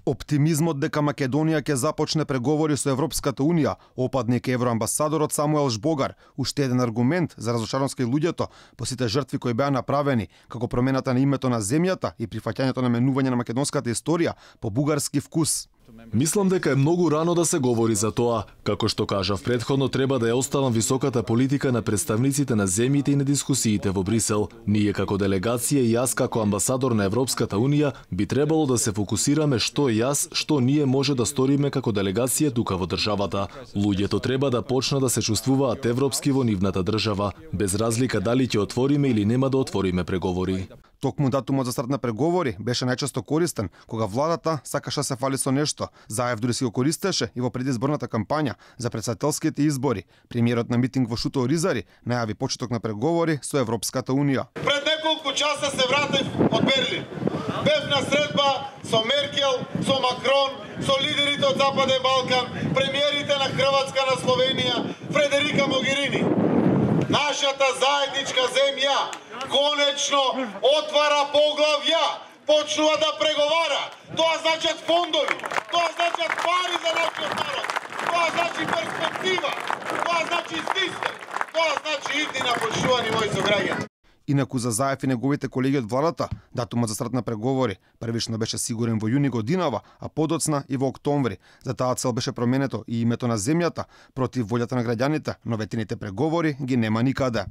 Оптимизмот дека Македонија ќе започне преговори со Европската Унија опадник евроамбасадорот Самуел Жбогар, уште еден аргумент за разочароска и луѓето по сите жртви кои беа направени, како промената на името на земјата и прифаќањето на менување на македонската историја по бугарски вкус. Мислам дека е многу рано да се говори за тоа. Како што кажав претходно, треба да ја оставам високата политика на представниците на земјите и на дискусиите во Брисел. Ние како делегација и јас како амбасадор на Европската Унија би требало да се фокусираме што јас, што ние може да сториме како делегација тука во државата. Луѓето треба да почнат да се чувствуваат европски во нивната држава, без разлика дали ќе отвориме или нема да отвориме преговори. Токму датумот за старт на преговори беше најчесто користен кога владата сакаше да се фали со нешто. Заев дури си го користеше и во предизборната кампања за претседателските избори. Премиерот на митинг во Шуто Оризари најави почеток на преговори со Европската Унија. Пред неколку часа се вратив од Берлин. Бев на средба со Меркел, со Макрон, со лидерите од Западен Балкан, премиерите на Хрватска, на Словенија, Фредерика Могерини. Нашата заедничка земја конечно отвара поглавја, почнува да преговара. Тоа значат фондови, тоа значат пари за нашиот народ, тоа значи перспектива, тоа значи систем, тоа значи иднина, почнувани мои сограѓани. Инаку за Заев и неговите колеги од владата, датумот за старт на преговори првично беше сигурен во јуни годинава, а подоцна и во октомври. За таа цел беше променето и името на земјата против волјата на граѓаните, но ветените преговори ги нема никаде.